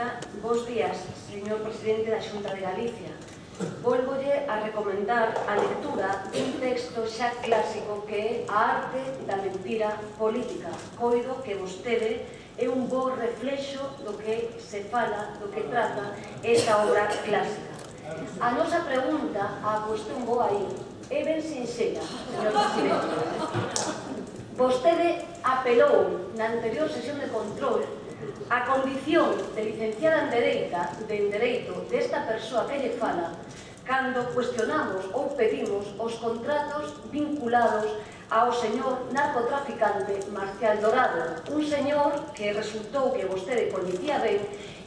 Señora, bos días, señor presidente da Xunta de Galicia. Volvolle a recomendar a lectura dun texto xa clásico que é A arte da mentira política. Coido que vostede é un bo reflexo do que se fala, do que trata esta obra clásica. A nosa pregunta, a cuestión boa aí, é ben sinxela, señor presidente. Vostede apelou na anterior sesión de control a condición de licenciada en Dereito desta persoa que lle fala cando cuestionamos ou pedimos os contratos vinculados ao señor narcotraficante Marcial Dorado, un señor que resultou que vostede coñecía ben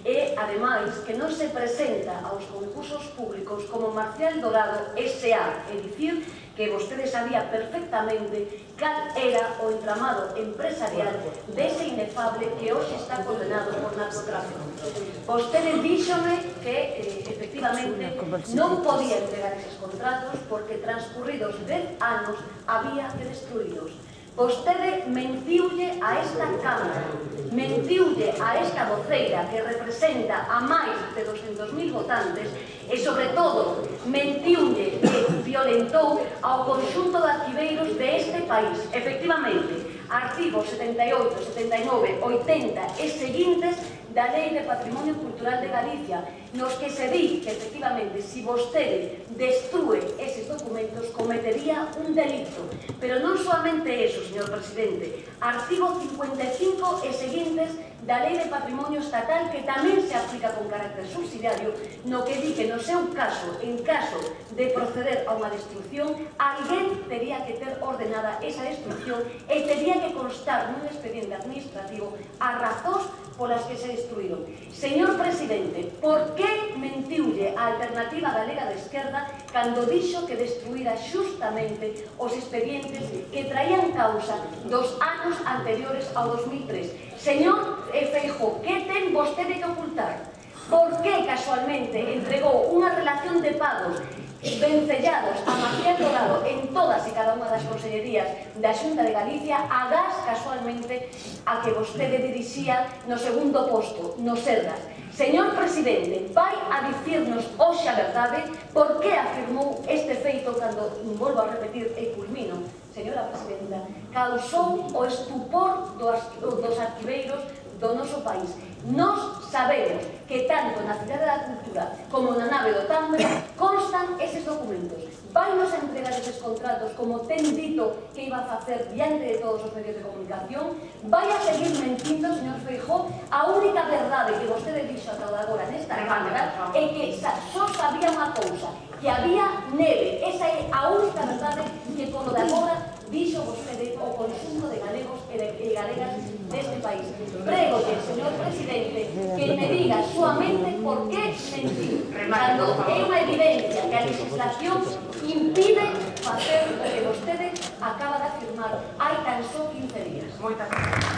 e, ademais, que non se presenta aos concursos públicos como Marcial Dorado S.A., é dicir, que vostede sabía perfectamente cal era o entramado empresarial dese inefable que hoxe está condenado por narcotráfico. Vostede díxome que, efectivamente, non podía entregar eses contratos porque transcurridos 10 anos había que destruídos. Vostede mentiulle a esta Cámara, mentiulle a esta voceira que representa a máis de 200.000 votantes e, sobre todo, mentiulle e violentou ao conxunto de arquiveiros deste país. Efectivamente, artigos 78, 79, 80 e seguintes da Lei de Patrimonio Cultural de Galicia, nos que se di que, efectivamente, se vostede destrúe eses documentos, cometería un delito. Pero non solamente eso, señor presidente. Artigo 55 e seguintes da Lei de Patrimonio Estatal, que tamén se aplica con carácter subsidiario, no que di que no seu caso, en caso de proceder a unha destrucción, alguén tería que ter ordenada esa destrucción e tería que constar nun expediente administrativo as razóns polas que se destruíron. Señor presidente, por que mentiulle a Alternativa Galega de Esquerda cando dixo que destruíra xustamente os expedientes que traían causa dos anos anteriores ao 2003? Señor Feijóo, que ten vostede que ocultar? Por que casualmente entregou unha relación de pagos vencellados a Marcial Dorado en todas e cada unha das consellerías da Xunta de Galicia, agás casualmente a que vostede dirixía no segundo posto, no Sergas? Señor presidente, vai a dicirnos hoxe a verdade por que afirmou este feito cando, volvo a repetir e culmino, señora presidenta, causou o estupor dos arquiveiros do noso país. Nos sabemos que tanto na Cidade da Cultura como na nave do Tambre constan eses documentos. Vainos a entregar eses contratos como ten dito que iba a facer diante de todos os medios de comunicación. Vai a seguir mentindo, señor Feijóo. A única verdade que vostede dixo ata agora nesta Cámara é que só sabía unha cousa, que había neve. Esa é a única verdade que polo de agora dixo vostede o conxunto de galegos e galegas deste país. Prégolle, señor presidente, que me diga suamente por que mentiu, cando é unha evidencia que a legislación impide facer o que vostede acaba de afirmar hai tan só 15 días.